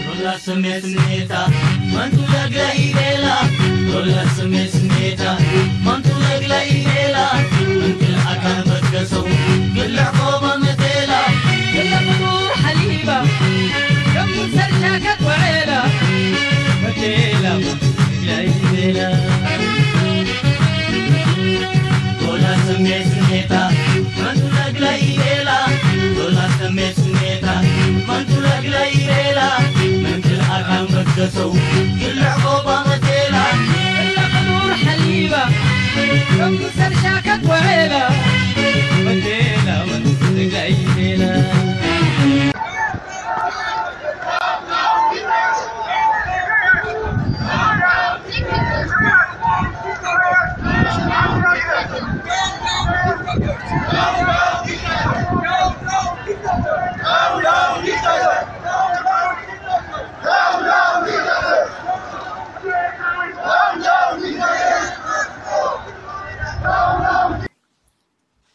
ሮላ ስሜት ስሜታ ማንቱ ለግለ ኢሌላ። ሮላ ስሜት ስሜታ ማንቱ ለግለ ኢሌላ። እንክል ኣካን በትከሰው ግልዕ ቆባ መቴላ። ግለ ፍጡር ሓሊባ ከም ሰርሻ ከትወዕላ። መቴላ ማንቱ ለግለ ኢሌላ። ሮላ ስሜት ስሜታ ማንቱ ለግለ ኢሌላ። ሮላ ስሜት ስሜታ ማንቱ ለግለ ኢሌላ። መንክል ኣካን በትከሰው ግልዕ ቆባ መቴላ። ግለ ፍጡር ሓሊባ ከም ሰርሻ ከትወዕላ። መቴላ ማንቱ ለግለ ኢሌላ።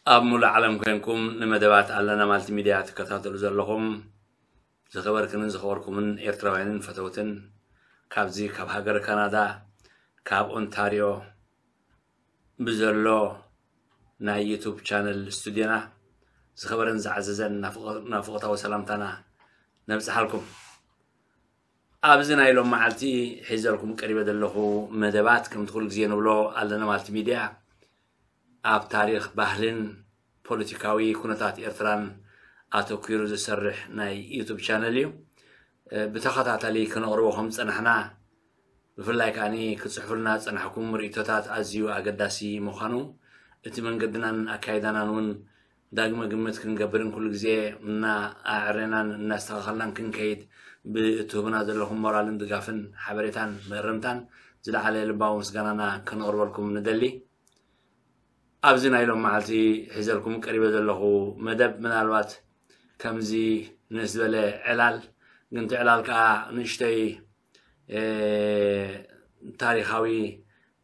ኣብ ሙሉእ ዓለም ኮይንኩም ንመደባት ኣለና ማልቲ ሚድያ ትከታተሉ ዘለኹም ዝኸበርክንን ዝኸበርኩምን ኤርትራውያንን ፈተውትን፣ ካብዚ ካብ ሃገር ካናዳ፣ ካብ ኦንታርዮ ብዘሎ ናይ ዩቱብ ቻነል ስቱድዮና ዝኸበረን ዝዓዘዘን ናፍቆ-፣ ናፍቆታዊ ሰላምታና ነብጽሓልኩም። ኣብዚ ናይ ሎም መዓልቲ ሒዘልኩም ቀሪበ ዘለኹ መደባት፣ ከምቲ ኩሉ ግዜ ንብሎ ኣለና ማልቲ ሚድያ ኣብ ታሪኽ፣ ባህልን ፖለቲካዊ ኩነታት ኤርትራን ኣተኲሩ ዝሰርሕ ናይ ዩቱብ ቻነል እዩ። እ፣ ብተኸታታሊ ክነቕርቦ ከም ዝጸናሕና፣ ብፍላይ ከኣኒ ክትጽሕፉልና ዝጸናሕኩም ርእይቶታት ኣዝዩ ኣገዳሲ ምዃኑ፣ እቲ መንገድናን ኣካይዳናን እውን ዳግመ ግምት ክንገብርን ኩሉ ግዜ እናኣዕረናን እናስተኻኸልናን ክንከይድ ብእትህቡና ዘለኹም ሞራልን ድጋፍን ሓበሬታን መእረምታን ዝለዓለ ልባዊ ምስጋናና ከነቕርበልኩም ንደሊ። ኣብዚ ናይ ሎም መዓልቲ ሒዘልኩም ቀሪበ ዘለኹ መደብ ምናልባት ከምዚ ንእስ ዝበለ ዕላል፣ ግን እቲ ዕላል ከኣ ንእሽተይ፣ እ፣ ታሪኻዊ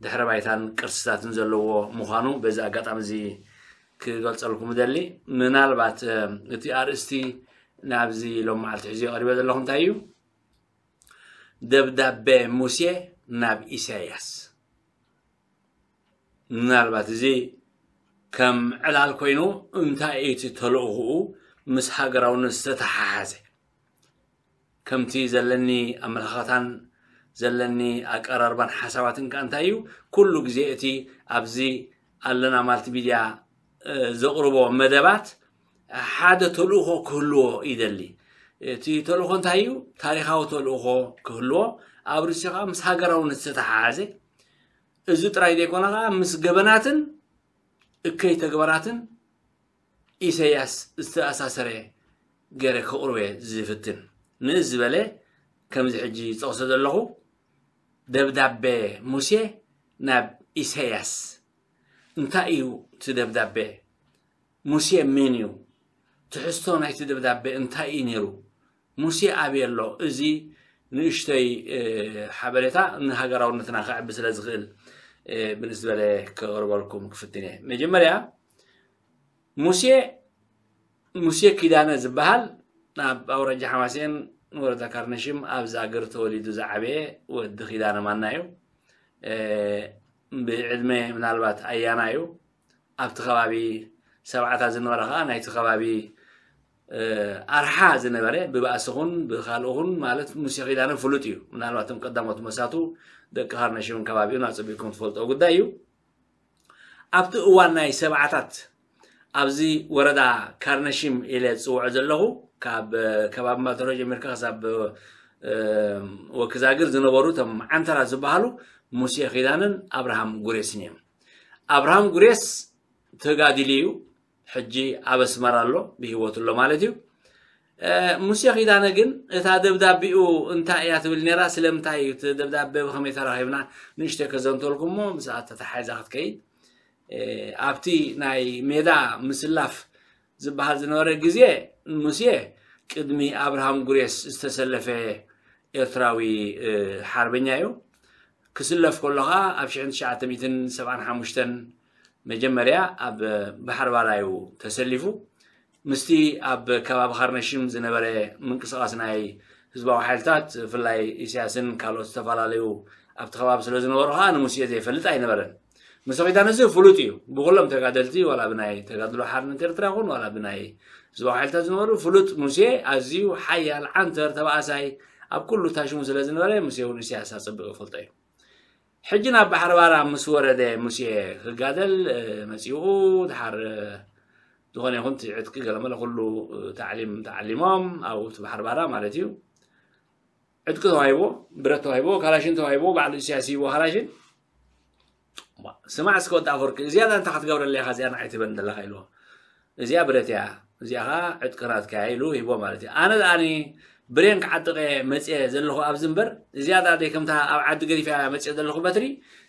ድሕረ ባይታን ቅርስታትን ዘለዎ ምዃኑ በዚ ኣጋጣሚ እዚ ክገልጸልኩም እደሊ። ምናልባት፣ እ፣ እቲ ኣርእስቲ ናብዚ ሎም መዓልቲ ሒዘዮ ቀሪበ ዘለኹ እንታይ እዩ? ደብዳቤ ሙሴ ናብ ኢሳያስ። ምናልባት እዚ ከም ዕላል ኮይኑ እንታይ እዩ እቲ ተልእኾኡ ምስ ሃገራውነት ዝተተሓሓዘ? ከምቲ ዘለኒ ኣመለኻኽታን ዘለኒ ኣቀራርባን ሓሳባትን ከኣ እንታይ እዩ፣ ኩሉ ግዜ እቲ ኣብዚ ኣለና ማልቲ ሚድያ፣ እ፣ ዘቕርቦ መደባት ሓደ ተልእኾ ክህልዎ ይደሊ። እቲ ተልእኾ እንታይ እዩ? ታሪኻዊ ተልእኾ ክህልዎ፣ ኣብ ርእሲኡ ከኣ ምስ ሃገራውነት ዝተተሓሓዘ፣ እዚ ጥራይ ዘይኮነ ከኣ ምስ ገበናትን እከይ ተግባራትን ኢሳያስ ዝተኣሳሰረ ገይረ ከቕርቦ እየ ዝፍትን። ንእስ ዝበለ ከምዚ ሕጂ ዝጠቕሶ ዘለኹ ደብዳቤ ሙሴ ናብ ኢሳያስ። እንታይ እዩ እቲ ደብዳቤ? ሙሴ መን እዩ? ትሕዝቶ ናይቲ ደብዳቤ እንታይ እዩ ነይሩ? ሙሴ ኣበይ ኣሎ? እዚ ንእሽተይ፣ እ፣ ሓበሬታ ንሃገራውነትና ከዕቢ ስለ ዝኽእል፣ እ፣ ብንስ ዝበለ ከቕርበልኩም ክፍትን እየ። መጀመርያ ሙሴ፣ ሙሴ ኪዳነ ዝበሃል ኣብ ኣውራጃ ሓማሴን ወረዳ ካርነሽም ኣብ ዛግር ተወሊዱ ዝዓበየ ወዲ ኪዳነ ማና እዩ። እ፣ ብዕድመ ምናልባት ኣያና እዩ። ኣብቲ ከባቢ ሰብዓታት ዝነበረ ከኣ ናይቲ ከባቢ፣ እ፣ ኣርሓ ዝነበረ ብባእሲ ኹን ብኻልእ ኹን ማለት ሙሴ ኪዳነ ፍሉጥ እዩ። ምናልባት እቶም ቀዳሞት መሳቱ ደቂ ካርነሽምን ከባቢኡን ኣጸቢቕኩም ትፈልጥዎ ጉዳይ እዩ። ኣብቲ እዋን ናይ ሰብዓታት ኣብዚ ወረዳ ካርነሽም ኢለ ዝጽውዖ ዘለኹ ካብ፣ እ፣ ከባቢ ማልተሮ ጀሚርካ ክሳብ፣ እ፣ ወኪዛግር ዝነበሩ እቶም ዓንተራት ዝበሃሉ ሙሴ ኪዳነን ኣብርሃም ጉሬስን እዮም። ኣብርሃም ጉሬስ ተጋዲሉ እዩ። ሕጂ ኣብ ኣስመራ ኣሎ፣ ብህይወት ኣሎ ማለት እዩ። እ፣ ሙሴ ኪዳነ ግን እታ ደብዳቤኡ እንታይ እያ ትብል ነይራ? ስለምንታይ እዩ እቲ ደብዳቤ ብኸመይ ተራኺብና? ንእሽተይ ከዘንተልኩሞ ምስኣ ተተሓሒዛ ክትከይድ። እ፣ ኣብቲ ናይ ሜዳ ምስላፍ ዝበሃል ዝነበረ ግዜ ሙሴ ቅድሚ ኣብርሃም ጉሬስ ዝተሰለፈ ኤርትራዊ ሓርበኛ እዩ። ክስለፍ ከሎ ኸኣ ኣብ ሽሕን ትሽዓተ ሚእትን ሰብዓን ሓሙሽተን መጀመርያ ኣብ ባሕሪ ባራ እዩ ተሰሊፉ። ምስቲ ኣብ ከባቢ ካርነሽም ዝነበረ ምንቅስቓስ ናይ ህዝባዊ ሓይልታት፣ ብፍላይ ኢሳያስን ካልኦት ዝተፈላለዩ ኣብቲ ከባቢ ስለ ዝነበሩ ኸኣ ንሙሴ ዘይፈልጥ ኣይነበረን። ሙሴ ኪዳነ እዚ ፍሉጥ እዩ። ብኹሎም ተጋደልቲ፣ ዋላ ብናይ ተጋድሎ ሓርነት ኤርትራ ይኹን ዋላ ብናይ ህዝባዊ ሓይልታት ዝነበሩ፣ ፍሉጥ ሙሴ ኣዝዩ ሓያል ዓንተር ተባኣሳይ ኣብ ኩሉ ታሽሙ ስለ ዝነበረ፣ ሙሴ እውን ኢሳያስ ኣጸቢቑ ይፈልጦ እዩ። ሕጂ ናብ ባሕሪ ባራ ምስ ወረደ ሙሴ ክጋደል መጺኡ፣ ድሓር ዝኾነ ይኹን እቲ ዕጥቂ ገለመለ ኩሉ ታዕሊም ተዓሊሞም ኣብኡ እቲ ባሕሪ ባራ ማለት እዩ። ዕጥቂ ተዋሂቦ፣ ብረት ተዋሂቦ፣ ካላሽን ተዋሂቦ፣ ባዕሉ ኢሳያስ ሂቦ ካላሽን። ስማዕ እስከ ወዲ ኣፈወርቂ፣ እዚኣ እንታይ ክትገብረለይ ኢኻ እዚኣ ንዓይ ትበን ዘለኻ ኢልዎ። እዚኣ ብረት እያ፣ እዚኣ ኸዓ ዕጥቂ ናትካ እያ ኢሉ ሂቦ ማለት እዩ። ኣነ ደኣኒ ብሬን ክዓጥቕ እየ መፅየ ዘለኹ ኣብዚ እምበር፣ እዚኣ ደኣ ደይ ከምታ ኣብ ዓዲ ገዲፈያ መፅየ ዘለኹ በትሪ፣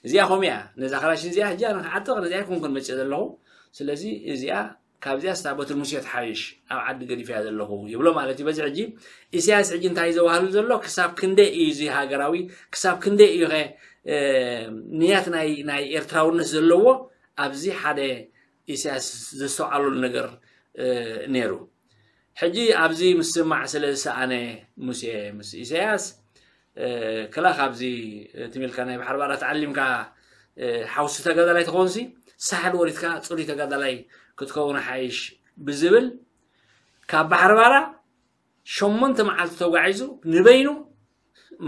እዚኣ ከምኡ እያ። ነዛ ካላሽን እዚኣ ሕጂ ኣነ ክዓጥቕ ነዚኣ ኣይኮንኩን መፅየ ዘለኹ። ስለዚ እዚኣ ካብዚኣ ስታ በትሪ ሙሴ ትሓይሽ፣ ኣብ ዓዲ ገዲፈያ ዘለኹ ይብሎ ማለት እዩ። በዚ ሕጂ ኢሳያስ ሕጂ እንታይ ዘዋህሉ ዘሎ፣ ክሳብ ክንደይ እዩ እዚ ሃገራዊ፣ ክሳብ ክንደይ እዩ ኸ ንያት ናይ ኤርትራውነት ዘለዎ፣ ኣብዚ ሓደ ኢሳያስ ዘስተውዓለሉ ነገር ነይሩ። ሕጂ ኣብዚ ምስማዕ ስለ ዝሰኣነ ሙሴ ምስ ኢሳያስ፣ ክላ ካብዚ ትም ኢልካ ናይ ባሕሪ ባራ ተዓሊምካ ሓውሲ ተጋዳላይ ትኾንሲ፣ ሳሕል ወሪድካ ጽሩይ ተጋዳላይ ክትከውን ሓይሽ ብዝብል፣ ካብ ባሕሪ ባራ ሸሞንተ መዓልቲ ተጓዒዙ ንበይኑ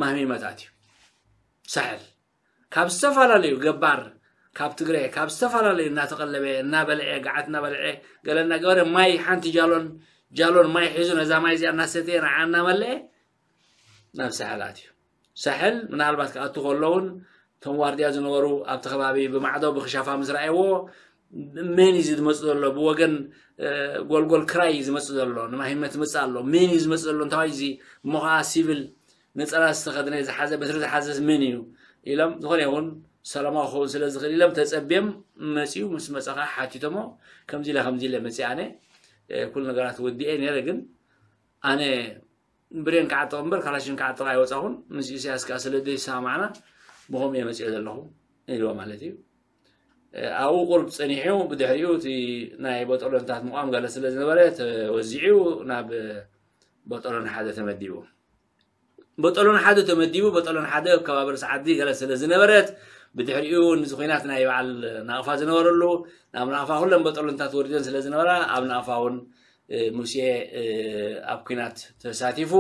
ማህሚመት ኣትዩ። ሳሕል ካብ ዝተፈላለዩ ገባር፣ ካብ ትግረ፣ ካብ ዝተፈላለዩ እናተቐለበ፣ እናበልዐ፣ ገዓት እናበልዐ፣ ገለ እናገበረ፣ ማይ ሓንቲ ጃሎን፣ ጃሎን ማይ ሒዙ ነዛ ማይ እዚኣ እናሰተየ ንዓ እናመለአ ናብ ሳሕል ኣትዩ። ሳሕል ምናልባት ክኣቱ ከሎ እውን እቶም ዋርድያ ዝነበሩ ኣብቲ ከባቢ ብማዕዶ ብክሻፋ ምስ ረኣይዎ፣ መን እዩ ዝመጽእ ዘሎ? ብወገን ጎልጎል ክራይ እዩ ዝመጽእ ዘሎ፣ ንማሂመት ዝመጽእ ኣሎ። መን እዩ ዝመጽእ ዘሎ? እንታይ እዚ እሞ ኸዓ ሲቪል ነጸላ ዝተኸድነ ዝሓዘ በትሪ ዝሓዘስ መን እዩ ኢሎም፣ ዝኾነ ይኹን ሰላማዊ ክኸውን ስለ ዝኽእል ኢሎም ተጸብዮም መጺኡ። ምስ መጸ ኸዓ ሓቲቶሞ፣ ከምዚ ኢለ ከምዚ ኢለ መጺእ ኣነ፣ ኩሉ ነገራት ወዲኤ ነይረ፣ ግን ኣነ ብሬን ክዓጥቕ እምበር ካላሽን ክዓጥቕ ኣይወጻኹን፣ ምስ ኢሳያስ ከኣ ስለ ዘይሰማማዕና ብኸምኡ እየ መጺኤ ዘለኹ ኢልዎ ማለት እዩ። ኣብኡ ቁሩብ ጸኒሑ፣ ብድሕሪኡ እቲ ናይ በጠሎንታት ምቋም ገለ ስለ ዝነበረ ተወዚዑ ናብ በጠሎን ሓደ ተመዲቡ። በጠሎን ሓደ ተመዲቡ፣ በጠሎን ሓደ ኣብ ከባቢ ርእሲ ዓዲ ገለ ስለ ዝነበረት፣ ብድሕሪኡ ንዚ ኹናት ናይ በዓል ናቕፋ ዝነበረሉ፣ ናብ ናቕፋ ኩለን በጠሎንታት ወሪደን ስለ ዝነበራ፣ ኣብ ናቕፋ እውን ሙሴ ኣብ ኲናት ተሳቲፉ።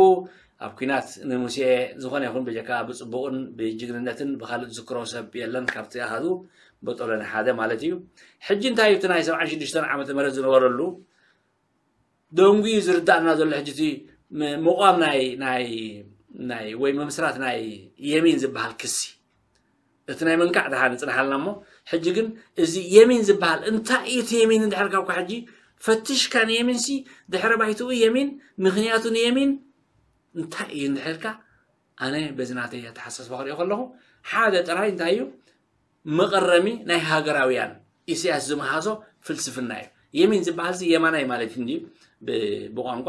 ኣብ ኲናት ንሙሴ ዝኾነ ይኹን ብጀካ ብጽቡቕን ብጅግንነትን ብኻልእ ዝዝክሮ ሰብ የለን፣ ካብቲ ኣሃዱ በጦለን ሓደ ማለት እዩ። ሕጂ እንታይ እቲ ናይ ሰብዓን ሽዱሽተን ዓመተ ምህረት ዝነበረሉ ደንጉዩ ዝርዳእና ዘሎ፣ ሕጂ እቲ ም-፣ ምቋም ናይ፣ ናይ፣ ናይ፣ ወይ ምምስራት ናይ የሚን ዝበሃል ክሲ፣ እቲ ናይ ምንካዕ ደሓን ይጽንሓልና እሞ፣ ሕጂ ግን እዚ የሚን ዝበሃል እንታይ እዩ? እቲ የሚን እንድሕር ካብካ ሕጂ ፈትሽካ ንየሚንሲ ድሕረ ባይትኡ የሚን፣ ምኽንያቱ ንየሚን እንታይ እዩ እንድሕርካ፣ ኣነ በዚ ናተይ ኣተሓሳስባ ክሪኦ ከለኹ ሓደ ጥራይ እንታይ እዩ መቐረሚ ናይ ሃገራውያን ኢሳያስ ዝመሃዞ ፍልስፍና እዩ። የሚን ዝበሃል ሲ የማናይ ማለት እንድዩ ብ-፣ ብቋንቋ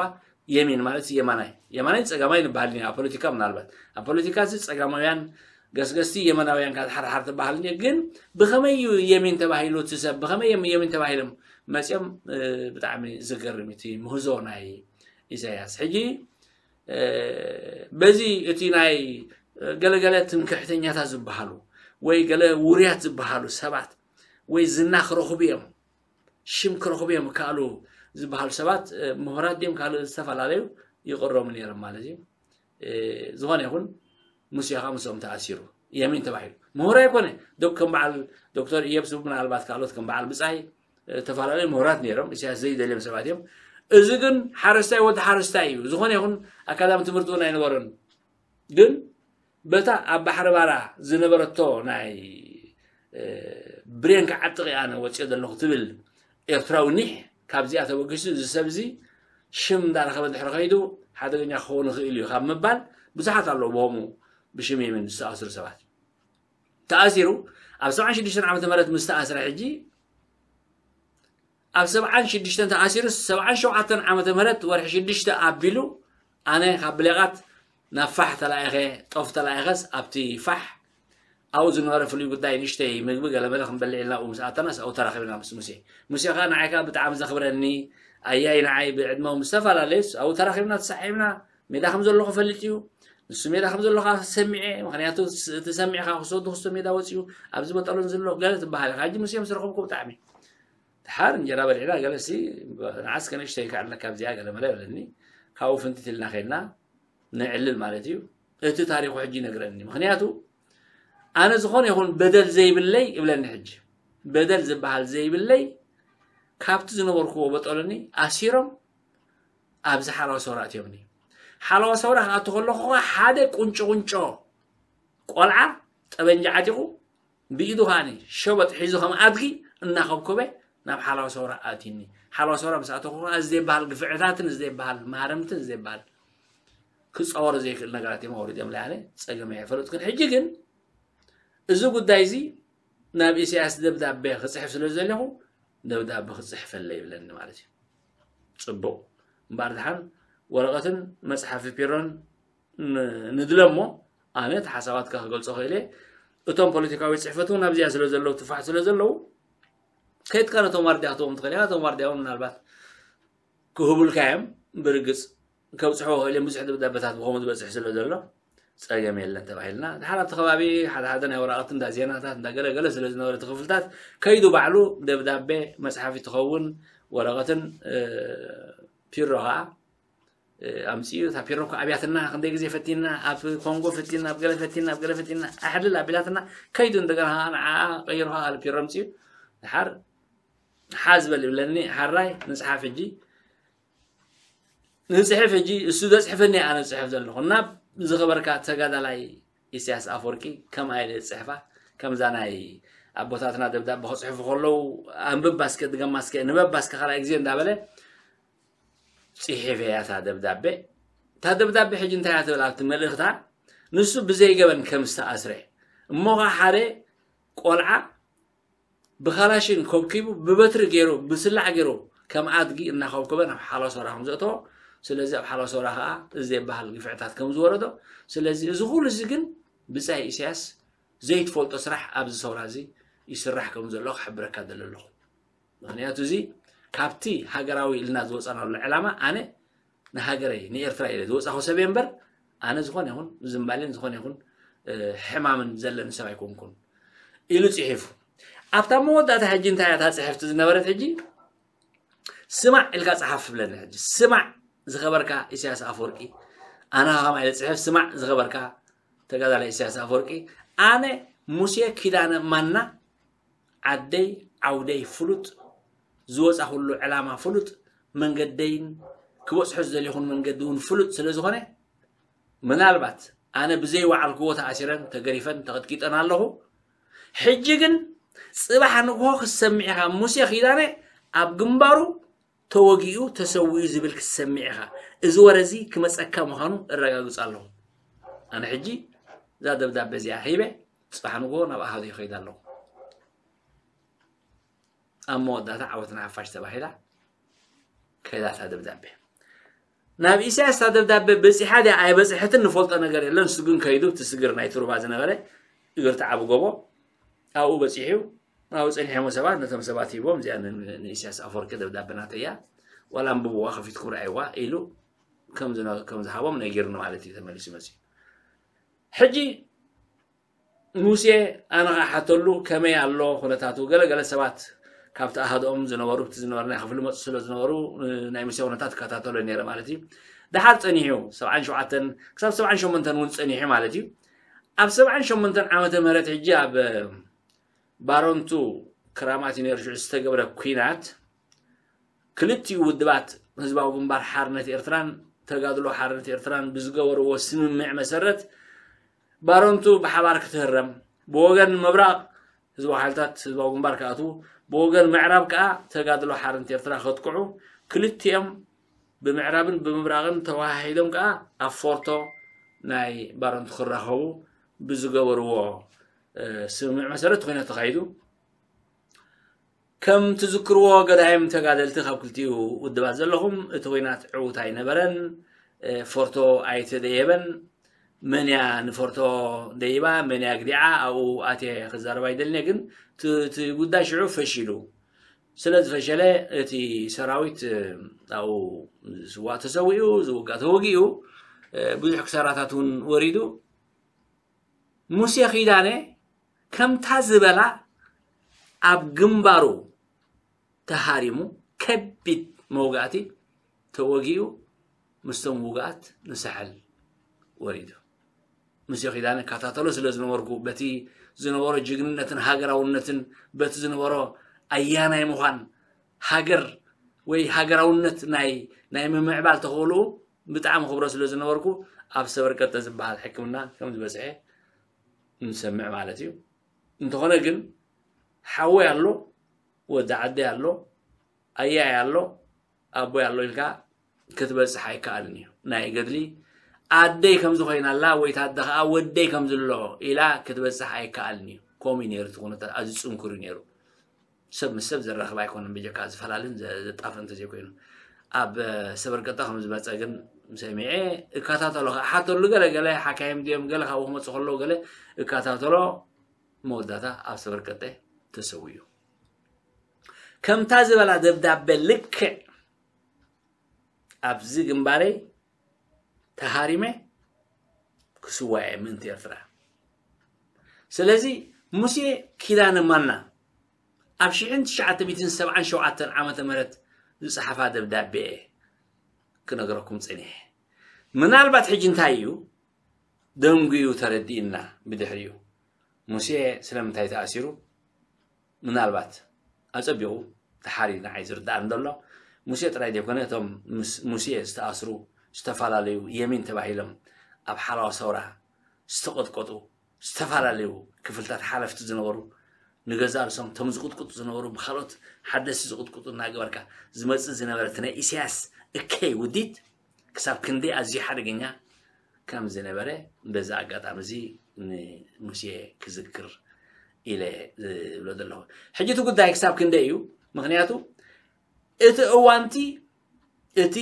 የሚን ማለት ሲ የማናይ። የማናይ ጸጋማይ ንበሃል ኢና ኣብ ፖለቲካ ምናልባት። ኣብ ፖለቲካ ሲ ጸጋማውያን ገስገስቲ የመናውያን ካብ ሓርሓር ትበሃል እንድዩ። ግን ብኸመይ እዩ የሚን ተባሂሉ እቲ ሰብ? ብኸመይ እዮም የሚን ተባሂሎም መጽዮም? እ፣ ብጣዕሚ ዝገርም እዩ እቲ ምህዞ ናይ ኢሳያስ። ሕጂ፣ እ፣ በዚ እቲ ናይ ገለገለ ትምክሕተኛታት ዝበሃሉ ወይ ገለ ውሩያት ዝበሃሉ ሰባት ወይ ዝና ክረኽቡ እዮም፣ ሽም ክረኽቡ እዮም ይከኣሉ ዝበሃሉ ሰባት፣ እ፣ ምሁራት ድዮም ካልእ ዝተፈላለዩ ይቕረሙ ነይሮም ማለት እዩ። እ፣ ዝኾነ ይኹን ሙሴ ኸዓ ምስኦም ተኣሲሩ። የሚን ተባሂሉ። ምሁር ኣይኮነ። ዶክ-፣ ከም በዓል ዶክተር ኢዮብ ስቡ ምናልባት ካልኦት ከም በዓል ብጻይ፣ እ፣ ዝተፈላለዩ ምሁራት ነይሮም። ኢሳያስ ዘይደልዮም ሰባት እዮም። እዚ ግን ሓረስታይ ወዲ ሓረስታይ እዩ። ዝኾነ ይኹን ኣካዳሚ ትምህርቲ እውን ኣይነበሮን። ግን በታ ኣብ ባሕሪ ባራ ዝነበረቶ ናይ፣ እ፣ ብሬን ክዓጥቕ እየ ኣነ ወፂኦ ዘለኹ ትብል ኤርትራዊ ኒሕ ካብዚኣ ተበጊሱ እዚ ሰብ እዚ ሽም እንዳረኸበ ድሕሪ ከይዱ ሓደገኛ ክኸውን ይኽእል እዩ ካብ ምባል ብዙሓት ኣለዉ ብኸምኡ ብሽም የሚን ዝተኣስሩ ሰባት። ተኣሲሩ ኣብ ሰብዓን ሽዱሽተን ዓመተ ምህረት ምስ ተኣስረ ሕጂ ኣብ ሰብዓን ሽዱሽተን ተኣሲሩስ ሰብዓን ሸውዓተን ዓመተ ምህረት ወርሒ ሽዱሽተ ኣቢሉ ኣነ ካብ ብሌቓት ናብ ፋሕ ተላኢኸ፣ ጦፍ ተላኢኸስ ኣብቲ ፋሕ ኣብኡ ዝነበረ ፍሉይ ጉዳይ ንእሽተይ ምግቢ ገለመለ ክንበልዕ ኢልና ኣብኡ ምስ ኣተናስ ኣብኡ ተራኺብና ምስ ሙሴ። ሙሴ ኸዓ ንዓይ ከዓ ብጣዕሚ ዘኽብረኒ ኣያይ ንዓይ ብዕድመ ምስ ዝተፈላለየስ ኣብኡ ተራኺብና ተሳዒብና። ሜዳ ከም ዘለኹ ፈልጥ እዩ። ንሱ ሜዳ ከም ዘለኹ ሰሚዐ። ምኽንያቱ እቲ ሰሚዕካ ክሰዱ ክስቶ ሜዳ ወፂኡ ኣብዚ መጠሎን ዘሎ ገለ ትበሃል ኢኻ። ሕጂ ሙሴ ምስ ረኸብኩ ብጣዕሚ ድሓር እንጀራ በሊዕና ገለሲ ንዓስ ከነሽተይ ከዓለካ ኣብዚኣ ገለ መለ በለኒ። ካብኡ ፍንትት ኢልና ከይድና ነዕልል ማለት እዩ። እቲ ታሪኹ ሕጂ ይነግረኒ። ምኽንያቱ ኣነ ዝኾነ ይኹን በደል ዘይብለይ እብለኒ። ሕጂ በደል ዝበሃል ዘይብለይ ካብቲ ዝነበርኩዎ በጠሎኒ ኣሲሮም ኣብዚ ሓላዋ ሰውራ ኣትዮምኒ። ሓላዋ ሰውራ ክኣቱ ከለኹ ኸዓ ሓደ ቁንጮ ቁንጮ ቆልዓ ጠበንጃ ዓጢቑ ብኢዱ ከዓኒ ሸበጥ ሒዙ ከም ኣድጊ እናኸብከበ ናብ ሓላዋ ሰውራ ኣትዩኒ። ሓላዋ ሰውራ ምስ ኣተኹ ኸዓ እዚ ዘይበሃል ግፍዕታትን እዚ ዘይበሃል ማህረምትን እዚ ዘይበሃል ክፃወሮ ዘይክእል ነገራት እዮም ኣውሪዶም። ላያለ ፀገም ኣይፈለጥኩን። ሕጂ ግን እዚ ጉዳይ እዚ ናብ ኢሳያስ ደብዳቤ ክፅሕፍ ስለ ዘለኹ ደብዳቤ ክፅሕፈለይ ይብለኒ ማለት እዩ። ፅቡቕ እምበኣር ድሓን ወረቐትን መፅሓፊ ፒሮን ን- ንድለ እሞ ኣነ እቲ ሓሳባትካ ክገልፆ ክእል እየ። እቶም ፖለቲካዊ ፅሕፈት እውን ኣብዚኣ ስለ ዘለዉ ትፋሕ ስለ ዘለዉ ከይድካ ነቶም ዋርድያ ክትዎም ትኽእል ኢኻ። እቶም ዋርድያ እውን ምናልባት ክህቡልካ እዮም። ብርግፅ ከብፅሕዎ ክእል እዮም። ብዙሕ ደብዳበታት ብኸምኡ ዝበፅሕ ስለ ዘሎ ፀገም የለን ተባሂልና። ድሓር ኣብቲ ከባቢ ሓደ ሓደ ናይ ወረቐት እንዳ ዜናታት እንዳ ገለገለ ስለ ዝነበረ እቲ ክፍልታት ከይዱ ባዕሉ ደብዳቤ መፅሓፊ ትኸውን ወረቐትን እ፣ ፒሮ ከዓ እ፣ ኣምፅኡ። እታ ፒሮ እኮ ኣብያትና ክንደይ ግዜ ፈቲና፣ ኣብ ኮንጎ ፈቲና፣ ኣብ ገለ ፈቲና፣ ኣብ ገለ ፈቲና ኣሕልል ኣቢላትና ከይዱ እንደገና ከዓ ንዓ ቀይሩ ከዓ ካልእ ፒሮ ኣምፅኡ። ድሓር ሓዝ በል ይብለኒ። ሓራይ ንፅሓፍ ሕጂ ንፅሕፍ ሕጂ እሱ ዘፅሕፈኒ ኣነ ዝፅሕፍ ዘለኹ ናብ ዝኸበርካ ተጋዳላይ ኢሳያስ ኣፈወርቂ ከምኣ ኢለ ዝፅሕፋ ከምዛ ናይ ኣቦታትና ደብዳቤ ክፅሕፉ ከለዉ ኣንብባ እስከ ድገማ እስከ ንበባ እስከ ካልኣይ ግዜ እንዳበለ ፅሒፈ እያ እታ ደብዳቤ። እታ ደብዳቤ ሕጂ እንታይ እያ ትብል ኣብቲ መልእኽታ ንሱ ብዘይገበን ከም ዝተኣስረ እሞ ኸዓ ሓደ ቆልዓ ብካላሽን ኮብኪቡ ብበትሪ ገይሩ ብስላዕ ገይሩ ከም ኣድጊ እናኸብከበ ናብ ሓላሶራ ከም ዘእተዎ ስለዚ ኣብ ሓላሶራ ከዓ እዚ ዘይበሃል ግፍዕታት ከም ዝወረዶ ስለዚ እዚ ኩሉ እዚ ግን ብፃይ ኢሳያስ ዘይትፈልጦ ስራሕ ኣብዚ ሰውራ እዚ ይስራሕ ከም ዘሎ ክሕብረካ ደለ ኣለኹ። ምኽንያቱ እዚ ካብቲ ሃገራዊ ኢልና ዝወፃናሉ ዕላማ ኣነ ንሃገረይ ንኤርትራ ኢለ ዝወፃኹ ሰብ እየ እምበር ኣነ ዝኾነ ይኹን ዝምባሌን ዝኾነ ይኹን ሕማምን ዘለኒ ሰብ ኣይኮንኩን ኢሉ ፅሒፉ። ኣብታ መወዳእታ ሕጂ እንታይ እያ እታ ፅሕፍቲ ዝነበረት ሕጂ ስማዕ ኢልካ ፀሓፍ ብለኒ ሕጂ ስማዕ ዝኸበርካ ኢሳያስ ኣፈወርቂ ኣነ ከማይ ኢለ ፅሕፍ ስማዕ ዝኸበርካ ተጋዳላይ ኢሳያስ ኣፈወርቂ ኣነ ሙሴ ኪዳነ ማና ዓደይ ዓውደይ ፍሉጥ ዝወፃኹሉ ዕላማ ፍሉጥ መንገደይን ክበፅሖ ዝደለኹን መንገዲ እውን ፍሉጥ ስለ ዝኾነ ምናልባት ኣነ ብዘይወዓልክዎ ተኣሲረን ተገሪፈን ተቐጥቂጠን ኣለኹ። ሕጂ ግን ፅባሕ ንግሆ ክትሰምዕ ኢኻ ሙሴ ኪዳነ ኣብ ግንባሩ ተወጊኡ ተሰዊኡ ዝብል ክትሰምዕ ኢኻ። እዚ ወረ እዚ ክመፀካ ምዃኑ እረጋግፅ ኣለኹ። ኣነ ሕጂ እዛ ደብዳቤ እዚኣ ሂበ ፅባሕ ንግሆ ናብ ኣሃዱ ይኸይድ ኣለኹ። ኣብ መወዳእታ ዓወት ንሓፋሽ ተባሂላ ከይዳ እታ ደብዳቤ። ናብ ኢሳያስ እታ ደብዳቤ በፂሓ ድያ ኣይበፅሐትን ንፈልጦ ነገር የለን። ንሱ ግን ከይዱ እቲ ስግር ናይ ትሩባ ዝነበረ እግርቲ ዓቢ ጎቦ ኣብኡ በፂሑ ኣብኡ ፀኒሖሞ ሰባት ነቶም ሰባት ሂቦም እዚኣ ን- ንኢሳያስ ኣፈወርቂ ደብዳቤ ናተይ እያ ዋላ ኣንብብዋ ከፊትኩም ረኣይዋ ኢሉ ከም ዝነ- ከም ዝሃቦም ነጊርኒ ማለት እዩ። ተመሊሱ መፅኡ ሕጂ ሙሴ ኣነ ኸዓ ሓተሉ ከመይ ኣሎ ኩነታቱ ገለ ገለ ሰባት ካብቲ ኣሃድኦም ዝነበሩ ብቲ ዝነበረ ናይ ክፍሊ መፁ ስለ ዝነበሩ ናይ ሙሴ ኩነታት ይከታተሎ ነይረ ማለት እዩ። ድሓር ፀኒሑ ሰብዓን ሸውዓተን ክሳብ ሰብዓን ሸሞንተን እውን ፀኒሑ ማለት እዩ። ኣብ ሰብዓን ሸሞንተን ዓመተ ምህረት ሕጂ ኣብ ባረንቱ ክራማት እዩ ነይሩ ሽዑ ዝተገብረ ኲናት ክልቲኡ ውድባት ህዝባዊ ግንባር ሓርነት ኤርትራን ተጋድሎ ሓርነት ኤርትራን ብዝገበርዎ ስምምዕ መሰረት ባረንቱ ብሓባር ክትህረም ብወገን ምብራቕ ህዝባዊ ሓይልታት ህዝባዊ ግንባር ክኣትዉ ብወገን ምዕራብ ከዓ ተጋድሎ ሓርነት ኤርትራ ከጥቅዑ ክልቲኦም ብምዕራብን ብምብራቕን ተወሃሂዶም ከዓ ኣብ ፎርቶ ናይ ባረንቱ ክራኸቡ ብዝገበርዎ ስምምዕ መሰረት ኮይነ ተኻይዱ። ከም ትዝክርዎ ገዳይም ተጋደልቲ ካብ ክልቲኡ ውድባት ዘለኹም እቲ ኹናት ዕዉት ኣይነበረን። ፎርቶ ኣይተደየበን። መን እያ ንፎርቶ ደይባ፣ መን እያ ግዲዓ፣ ኣብኡ ኣትየ ክዛረብ ኣይደልንየ። ግን እቲ ጉዳይ ሽዑ ፈሺሉ። ስለ ዝፈሸለ እቲ ሰራዊት ኣብኡ ዝዋእ ተሰዊኡ፣ ዝውጋእ ተወጊኡ፣ ብዙሕ ክሳራታት እውን ወሪዱ። ሙሴ ኪዳነ ከምታ ዝበላ ኣብ ግንባሩ ተሃሪሙ ከቢድ መውጋእቲ ተወጊኡ ምስቶም ውግኣት ንሳሕል ወሪዱ። ሙሴ ኪዳነ እከታተሎ ስለ ዝነበርኩ በቲ ዝነበሮ ጅግንነትን ሃገራውነትን በቲ ዝነበሮ ኣያናይ ምዃን ሃገር ወይ ሃገራውነት ናይ ናይ ምምዕባል ተኽእልኡ ብጣዕሚ ክብሮ ስለ ዝነበርኩ ኣብ ሰበርቀጠ ዝበሃል ሕክምና ከም ዝበፅሐ ንሰምዕ ማለት እዩ። እንተኾነ ግን ሓወይ ኣሎ፣ ወዲ ዓደይ ኣሎ፣ ኣያይ ኣሎ፣ ኣቦይ ኣሎ ኢልካ ክትበፅሕ ኣይከኣልን እዩ። ናይ ገድሊ ኣደይ ከምዚ ኮይና ኣላ ወይ ታደ ከዓ ወደይ ከምዚ ኣሎ ኢላ ክትበፅሕ ኣይከኣልን እዩ። ከምኡ እዩ ነይሩ እቲ ኩነታት፣ ኣዝዩ ፅንኩር እዩ ነይሩ። ሰብ ምስ ሰብ ዘራኽብ ኣይኮነን፣ ብጀካ ዝፈላልን ዘጣፍእ እንተዘይኮይኑ። ኣብ ሰበርቀጠ ከም ዝመፀ ግን ሰሚዐ። እከታተሎ፣ ክሓተሉ ገለ ገለ ሓካይም ድዮም ገለ ካብኡ ክመፁ ከለዉ ገለ እከታተሎ። መወዳእታ ኣብ ሰበርቀጠ ተሰዊኡ። ከምታ ዝበላ ደብዳቤ ልክዕ ኣብዚ ግንባረይ ተሃሪመ ክስዋየ ምእንቲ ኤርትራ። ስለዚ ሙሴ ኪዳነ ማና ኣብ ሽሕን ትሽዓተ ሚእትን ሰብዓን ሸውዓተን ዓመተ ምህረት ዝጸሓፋ ደብዳቤ እየ ክነግረኩም ጸኒሐ። ምናልባት ሕጂ እንታይ እዩ ደንጉዩ ተረዲእና ብድሕሪኡ። ሙሴ ስለምንታይ ተኣሲሩ? ምናልባት ኣጸቢቑ ተሓሪ ንዓይ ዝርዳእኒ ዘሎ ሙሴ ጥራይ ዘይኮነ እቶም ምስ ሙሴ ዝተኣስሩ ዝተፈላለዩ የሚን ተባሂሎም ኣብ ሓላዋ ሰውራ ዝተቐጥቀጡ ዝተፈላለዩ ክፍልታት ሓለፍቲ ዝነበሩ ንገዛ ርእሶም እቶም ዝቕጥቅጡ ዝነበሩ ብካልኦት ሓደስቲ ዝቕጥቅጡ እናገበርካ ዝመጽእ ዝነበረ እቲ ናይ ኢሳያስ እከይ ውዲት ክሳብ ክንደይ ኣዝዩ ሓደገኛ ከም ዝነበረ በዚ ኣጋጣሚ እዚ ንሙሴ ክዝክር ኢለ ዝብሎ ዘለኹ። ሕጂ እቲ ጉዳይ ክሳብ ክንደይ እዩ? ምኽንያቱ እቲ እዋንቲ እቲ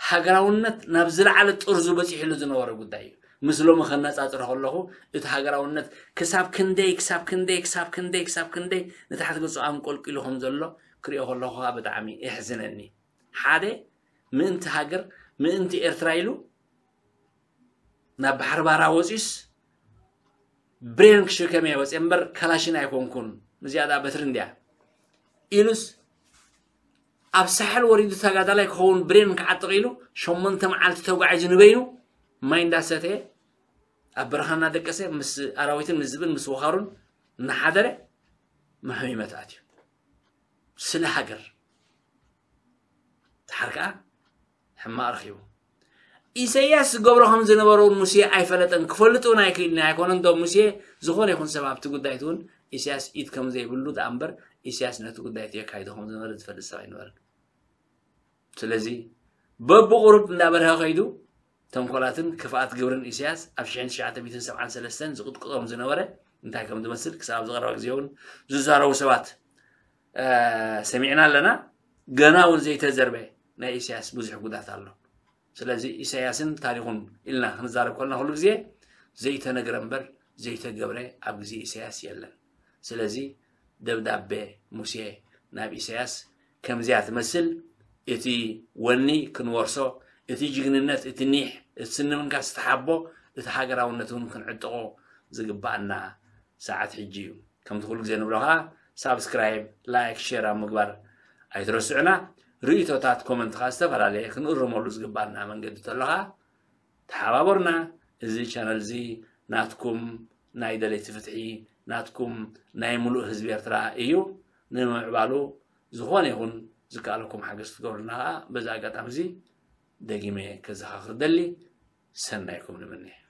ሃገራውነት ናብ ዝለዓለ ጥርዙ በፂሕሉ ዝነበረ ጉዳይ እዩ። ምስ ሎሚ ከነፃፅሮ ከለኹ እቲ ሃገራውነት ክሳብ ክንደይ ክሳብ ክንደይ ክሳብ ክንደይ ክሳብ ክንደይ ንታሕቲ ገፁ ኣንቆልቂሉ ከም ዘሎ ክሪኦ ከለኹ ከዓ ብጣዕሚ የሕዝነኒ። ሓደ ምእንቲ ሃገር ምእንቲ ኤርትራ ኢሉ ናብ ባሕሪ ባራ ወፂኡስ ብሬን ክሽከም እየ ወፅየ እምበር ካላሽን ኣይኮንኩን፣ እዚኣ ደኣ በትሪ እንድያ ኢሉስ ኣብ ሳሕል ወሪዱ ተጋዳላይ ክኸውን ብሬን ክዓጥቕ ኢሉ ሸሞንተ መዓልቲ ተጓዒዙ ንበይኑ ማይ እንዳሰተየ ኣብ በረኻ እናደቀሰ ምስ ኣራዊትን ምስ ዝብን ምስ ወኻሩን እናሓደረ መሐሚመት ኣትዩ ስለ ሃገር። ድሓር ከኣ ሕማቕ ረኺቡ። ኢሰያስ ዝገብሮ ከም ዝነበረ እውን ሙሴ ኣይፈለጠን፣ ክፈልጥ እውን ኣይክእልን ኣይኮነን። ዶ ሙሴ ዝኾነ ይኹን ሰብ ኣብቲ ጉዳይ እቲ እውን ኢሰያስ ኢድ ከም ዘይብሉ ደኣ እምበር ኢሰያስ ነቲ ጉዳይ እቲ የካይዶ ከም ዝነበረ ዝፈልጥ ሰብ ኣይነበረን። ስለዚ በብቑሩብ እንዳበርሀ ከይዱ ተንኮላትን ክፍኣት ግብርን ኢሰያስ ኣብ ሽሕን ትሽዓተ ሚእትን ሰብዓን ሰለስተን ዝቕጥቅጦም ዝነበረ እንታይ ከም ዝመስል ክሳብ ኣብዚ ቀረባ ግዜ እውን ዝዛረቡ ሰባት ሰሚዕና ኣለና። ገና እውን ዘይተዘርበ ናይ ኢሳያስ ብዙሕ ጉዳት ኣሎ። ስለዚ ኢሳያስን ታሪኹን ኢልና ክንዛረብ ከለና ኩሉ ግዜ ዘይተነግረ እምበር ዘይተገብረ ኣብ ግዜ ኢሳያስ የለን። ስለዚ ደብዳቤ ሙሴ ናብ ኢሳያስ ከምዚያ ትመስል። እቲ ወኒ ክንወርሶ፣ እቲ ጅግንነት፣ እቲ ኒሕ፣ እቲ ስንምንካ ዝተሓቦ፣ እቲ ሃገራውነት እውን ክንዕጥቖ ዝግባኣና ሰዓት ሕጂ እዩ። ከምቲ ኩሉ ግዜ ንብሎ ከዓ ሳብስክራይብ፣ ላይክ፣ ሼር ኣብ ምግባር ኣይትረስዑና። ርእይቶታት ኮመንት ከዓ ዝተፈላለየ ክንእርመሉ ዝግባና መንገዲ ተሎ ከዓ ተሓባበሩና። እዚ ቻነል እዚ ናትኩም ናይ ደለይቲ ፍትሒ ናትኩም ናይ ሙሉእ ህዝቢ ኤርትራ እዩ። ንምምዕባሉ ዝኾነ ይኹን ዝከኣለኩም ሓገዝ ክትገብሩልና ከዓ በዚ ኣጋጣሚ እዚ ደጊመ ከዘኻኽር ደሊ። ሰናይኩም ንምነ።